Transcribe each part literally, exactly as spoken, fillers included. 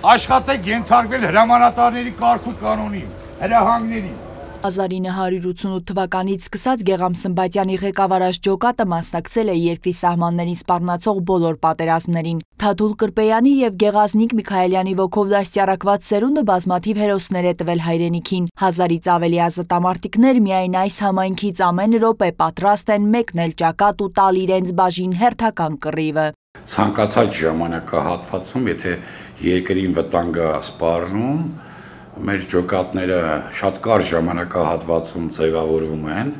աշխատեք ենթարկվել հրամանատարների կարգ ու կանոնին, հրահանգներին։ հազար ինը հարյուր ութսունութ թվականից սկսած Գեղամ Սմբատյանի ղեկավարած ջոկատը մասնակցել է երկրի սահմաններին սպառնացող բոլոր պատերազմներին։ Թաթուլ Կրպեյանի և Գեղազնիկ Միքայելյանի ոգով դաստիարակված սերունդը բազմաթիվ հերոսներ է տվել հայրենիքին։ Հազարից ավելի ազատամարտիկներ միայն այս համայնքից ամեն րոպե պատրաստ են մեկնել ճակատ ու տալ իրենց բաժին հերթական կռիվը։ Ցանկացած ժամանակահատվածում, եթե երկրին վտանգ է սպառնում, մեր ջոկատները շատ կարճ ժամանակահատվածում ձևավորվում են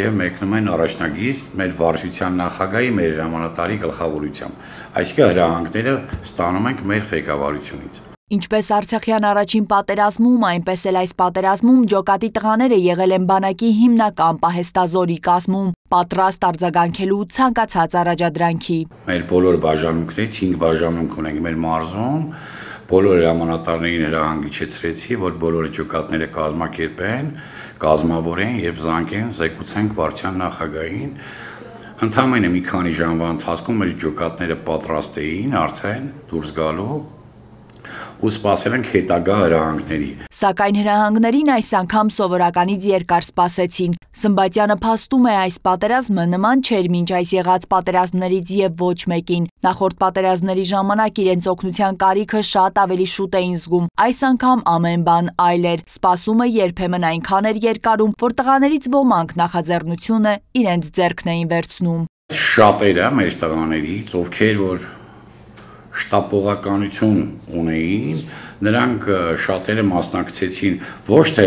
և մեկնում են առաջնագիծ մեր վարչության նախագահի, մեր հրամանատարի գլխավորությամբ։ Այսինքն հրահանգները ստանում ենք մեր ղեկավարությունից։ Ինչպես Արցախյան առաջին պատերազմում, այնպես էլ այս պատերազմում ջոկատի տղաները եղել են բանակի հիմնական պահեստազորի կազմում, պատրաստ արձագանքելու ցանկացած առաջադրանքի։ Մեր բոլոր բաժանմունքներից հինգ բաժանմունք ունենք մեր մարզում, բոլոր հրամանատարներին հրահանգիչեցրեցի, որ բոլոր ջոկատները կազմակերպեն, կազմավորեն և զանգեն, զեկուցենք վարչության նախագահին։ Ընդամենը մի քանի ժամվա ընթացքում մեր ջոկատները պատրաստ էին արդեն դուրս գալու ու սպասել ենք հետագա հրահանգների։ Սակայն հրահանգներին այս անգամ սովորականից երկար սպասեցին։ Սմբատյանը փաստում է, այս պատերազմը նման չէր մինչ այս եղած պատերազմներից և ոչ մեկին։ Նախորդ պատերազմների ժամանակ իրենց օգնության կարիքը շատ ավելի շուտ էին զգում, այս անգամ ամեն բան այլ էր։ Սպասումը երբեմն այնքան էր երկարում, որ տղաներից ոմանք նախաձեռնությունը իրենց ձեռքն էին վերցնում։ Շատերը մեր տղաներից, ովքեր որ շտապողականություն ունեին, նրանք շատերը մասնակցեցին ոչ թե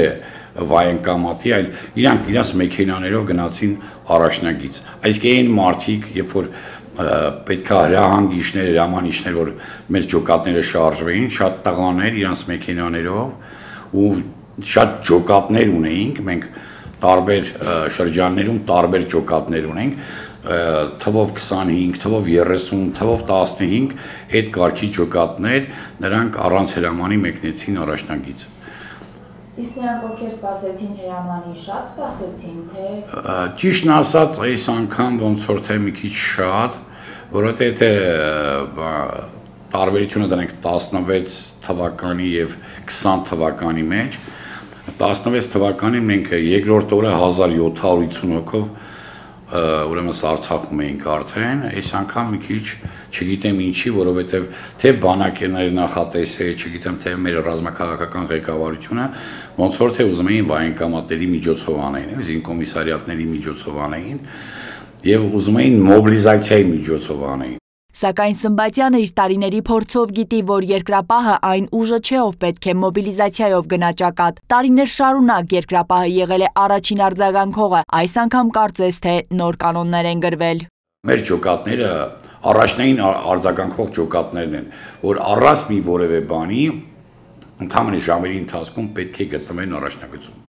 վայենկամատի, այլ իրանք իրաց մեքենաներով գնացին առաջնագիծ։ Այսինքն այն մարդիկ, երբ որ պետք է հրահանգիչներ, հրամանիչներ, որ մեր ջոկատները շարժվեին, շատ տղաներ իրանց մեքենաներով ու շատ ջոկատներ ունեինք, մենք տարբեր շրջաններում տարբեր ջոկատներ ունենք, թվով քսանհինգ, թվով երեսուն, թվով տասնհինգ այդ կարգի ջոկատներ, նրանք առանց հրամանի մեկնեցին առաջնագիծ։ Իսկ նրանք ովքեր սպասեցին հրամանի, շատ սպասեցին, թե… Ճիշտն ասած, այս անգամ ոնց որ թե մի քիչ շատ, որովհետև թե տարբերությունը դրանք տասնվեց թվականի և քսան թվականի մեջ, տասնվեց թվականին մենք երկրորդ օրը հազար յոթ հարյուր ութսուն հոգով ուրեմն Արցախում էինք արդեն, այս անգամ մի քիչ չգիտեմ ինչի, որովհետև թե բանակերների նախատեսը, չգիտեմ թե մեր ռազմաքաղաքական ղեկավարությունը, ոնց որ թե ուզում էին վայենկամատների միջոցով անեին, զինկոմիսարիատների միջոցով անեին և ուզում էին մոբիլիզացիայի միջոցով անեին։ Սակայն Սմբատյանը իր տարիների փորձով գիտի, որ երկրապահը այն ուժը չէ, ով պետք է մոբիլիզացիայով գնա ճակատ։ Տարիներ շարունակ երկրապահը եղել է առաջին արձագանքողը, այս անգամ կարծես թե նոր կանոններ են գրվել։ Մեր ջոկատները առաջնային արձագանքող ջոկատներն են, որ առանց մի որևէ բանի ընդամենը ժամերի ընթացքում պետք է գտնվեն առաջնագծում։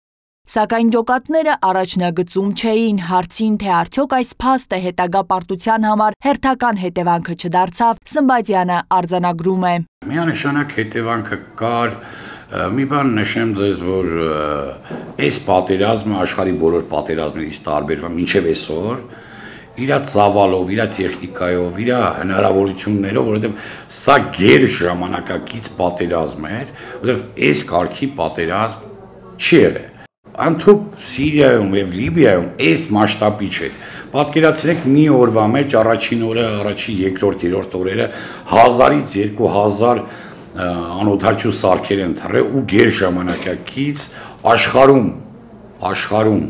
Սակայն ջոկատները առաջնագծում չէին, հարցին, թե արդյոք այս փաստը հետագա պարտության համար հերթական հետևանքը չդարձավ, Սմբատյանը արձանագրում է։ Միանշանակ հետևանքը կար, մի բան նշեմ ձեզ, որ այս պատերազմը աշխարհի բոլոր պատերազմներից տարբերվում է մինչև այսօր, իր ծավալով, իր տեխնիկայով, իր հնարավորություններով, որովհետև սա գեր ժամանակակից պատերազմ էր, որովհետև այս կարգի պատերազմ չի եղել։ Անթուփ Սիրիայում և Լիբիայում այս մասշտաբի չէր։ Պատկերացրեք մի օրվա մեջ առաջին օրը, առաջին երկրորդ, երրորդ օրերը հազարից երկու հազար անօդաչու սարքեր են թռել ու գեր ժամանակակից աշխարհում, աշխարհում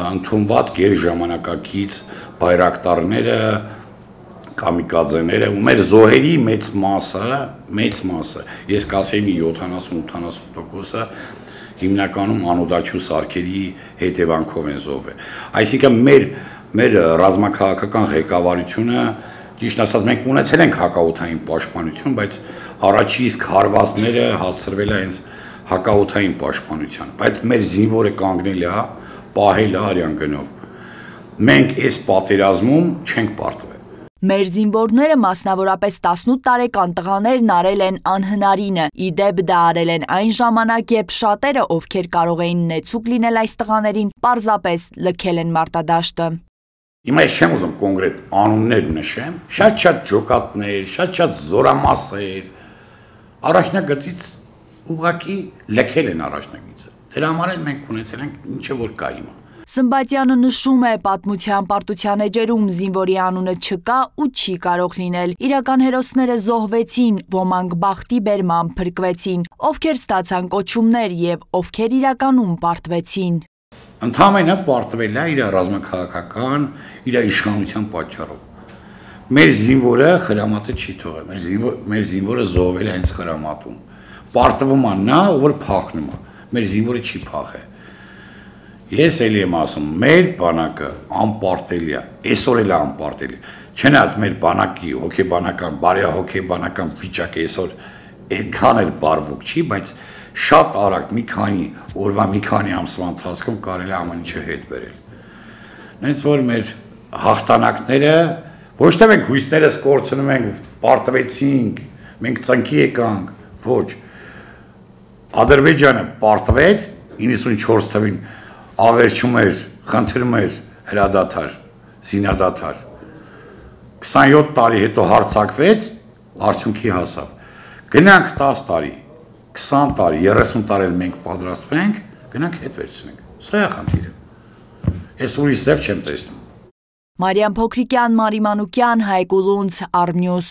ընդունված գեր ժամանակակից բայրակտարները, կամիկաձեները ու մեր զոհերի մեծ մասը, մեծ մասը, ես կասեի մի յոթանասուն ութանասուն տոկոսը հիմնականում անօդաչու սարքերի հետևանքով են զոհվել։ Այսինքն մեր մեր ռազմաքաղաքական ղեկավարությունը, ճիշտ ասած, մենք ունեցել ենք հակաօդային պաշտպանություն, բայց առաջի իսկ հարվածները հասցրվել է հենց հակաօդային պաշտպանության, բայց մեր զինվորը կանգնել է, պահել է արյան գնով։ Մենք այս պատերազմում չենք պարտվել։ Մեր զինվորները, մասնավորապես տասնութ տարեկան տղաներն արել են անհնարինը, ի դեպ դա արել են այն ժամանակ, երբ շատերը, ովքեր կարող էին նեցուկ լինել այս տղաներին, պարզապես լքել են մարտադաշտը։ Հիմա ես չեմ ուզում կոնկրետ անուններ նշեմ, շատ-շատ ջոկատներ, շատ-շատ զորամասեր, առաջնագծից ուղղակի լքել են առաջնագիծը։ Դրա համար էլ մենք ունեցել ենք ինչը որ կա հիմա։ Սմբատյանը նշում է, պատմության պարտության էջերում զինվորի անունը չկա ու չի կարող լինել։ Իրական հերոսները զոհվեցին, ոմանք բախտի բերման փրկվեցին, ովքեր ստացան կոչումներ եւ ովքեր իրականում պարտվեցին։ Ընդհանրապես պարտվել է իր ռազմաքաղաքական, իր իշխանության պատճառով։ Մեր զինվորը խրամատը չի թողել, մեր զինվորը, մեր զինվորը զոհվել է հենց խրամատում։ Պարտվում է նա, որ փախնում է, մեր զինվորը չի փախել։ Ես էլի եմ ասում, մեր բանակը անպարտելի է, այսօր էլ է անպարտելի։ Չնայած մեր բանակի հոգեբանական, բարեհոգեբանական վիճակը այսօր այդքան էլ բարվոք չի, բայց շատ արագ մի քանի օրվա մի քանի ամսվա ընթացքում կարելի է ամեն ինչը հետ բերել։ Նենց որ մեր հաղթանակները ոչ թե մենք հույսներս կորցնում ենք, պարտվեցինք, մենք ծնկի եկանք, ոչ։ Ադրբեջանը պարտվեց իննսունչորս թվին ավերջում էր, խնդրում էր հրադադար, զինադադար։ քսանյոթ տարի հետո հարձակվեց, արդյունքի հասավ։ Գնանք տաս տարի, քսան տարի, երեսուն տարի էլ մենք պատրաստվենք, գնանք հետ վերցնենք։ Սա է խնդիրը։ Ես ուրիշ ձև չեմ տեսնում։ Մարիամ Փոքրիկյան, Մարի Մանուկյան, Հայկ Ուլունց, Արմնյուս։